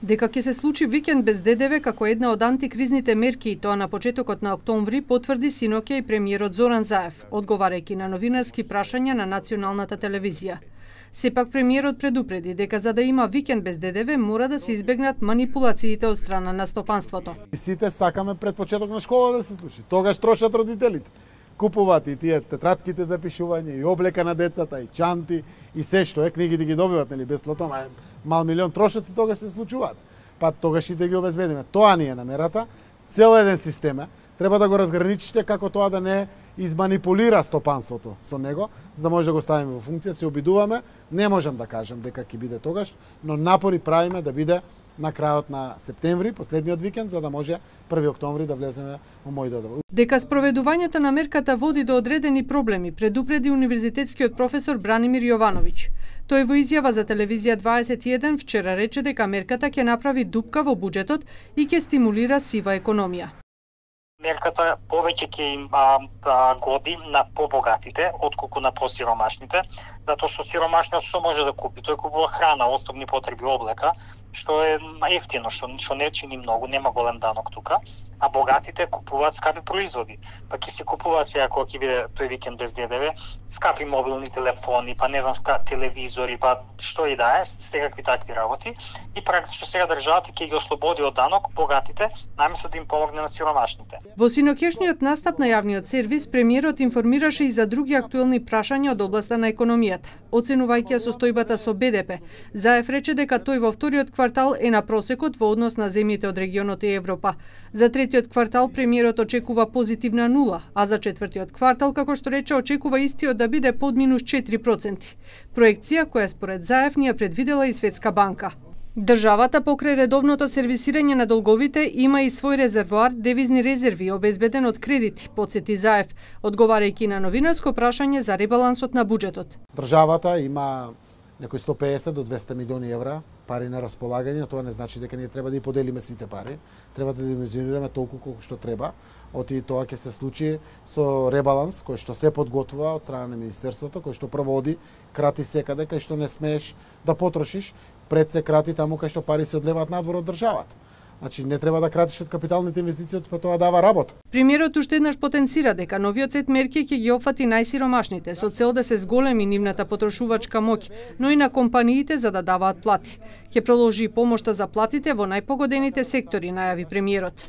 Дека ќе се случи викенд без ДДВ како една од антикризните мерки и тоа на почетокот на октомври потврди синоќа и премиерот Зоран Заев, одговарајќи на новинарски прашања на националната телевизија. Сепак премиерот предупреди дека за да има викенд без ДДВ мора да се избегнат манипулациите од страна на стопанството. Сите сакаме пред почеток на школа да се случи. Тогаш трошат родителите. Купуваат и тие тетратките за пишување, и облека на децата, и чанти, и се што е, книгите ги добиват, нели, бесплатно, мал милион трошат се тогаш се случуваат. Па тогаш и да ги обезбедиме. Тоа ни е намерата, цел еден систем е, треба да го разграничите како тоа да не изманипулира стопанството со него, за да може да го ставиме во функција, се обидуваме, не можам да кажам дека ќе биде тогаш, но напори правиме да биде на крајот на септември, последниот викенд, за да може 1 октомври да влеземе во мој додава. Дека спроведувањето на мерката води до одредени проблеми, предупреди универзитетскиот професор Бранимир Јовановиќ. Тој во изјава за телевизија 21 вчера рече дека мерката ќе направи дупка во буџетот и ќе стимулира сива економија. Мерката повеќе ќе им годи на побогатите, отколку на посиромашните, затоа што сиромашниот што може да купи? Тој купува храна, основни потреби, облека, што е ефтино, што не чини многу, нема голем данок тука, а богатите купуваат скапи производи. Па ќе се купуваат сега кога ќе биде тој викенд без ДДВ, скапи мобилни телефони, па не знам телевизори, па што и да е, секакви такви работи, и практично сега државата ќе ги ослободи од данок богатите, наместо да им помогне на сиромашните. Во синоќешниот настап на јавниот сервис, премиерот информираше и за други актуелни прашања од областа на економијата. Оценувајќи ја состојбата со БДП, Заев рече дека тој во вториот квартал е на просекот во однос на земјите од регионот и Европа. За третиот квартал премиерот очекува позитивна нула, а за четвртиот квартал, како што рече, очекува истиот да биде под минус 4%. Проекција која според Заев ни ја предвидела и Светска банка. Државата покрај редовното сервисирање на долговите има и свој резервоар девизни резерви обезбеден од кредити, потсети Заев, одговарајќи на новинарско прашање за ребалансот на буџетот. Државата има некои 150 до 200 милиони евра пари на располагање, тоа не значи дека ние треба да ги поделиме сите пари, треба да димenzionираме толку колку што треба. Оти тоа ќе се случи со ребаланс кој што се подготвува од страна на министерството, кој што проводи, крати секаде кај што не смееш да потрошиш, пред се крати таму кај што пари се одлеваат надвор од државата. Значи не треба да кратиш од капиталните инвестиции, па тоа дава работа. Премиерот уште еднаш потенцира дека новиот сет мерки ќе ги опфати најсиромашните со цел да се зголеми нивната потрошувачка моќ, но и на компаниите за да даваат плати. Ќе продолжи помошта за платите во најпогодените сектори, најави премиерот.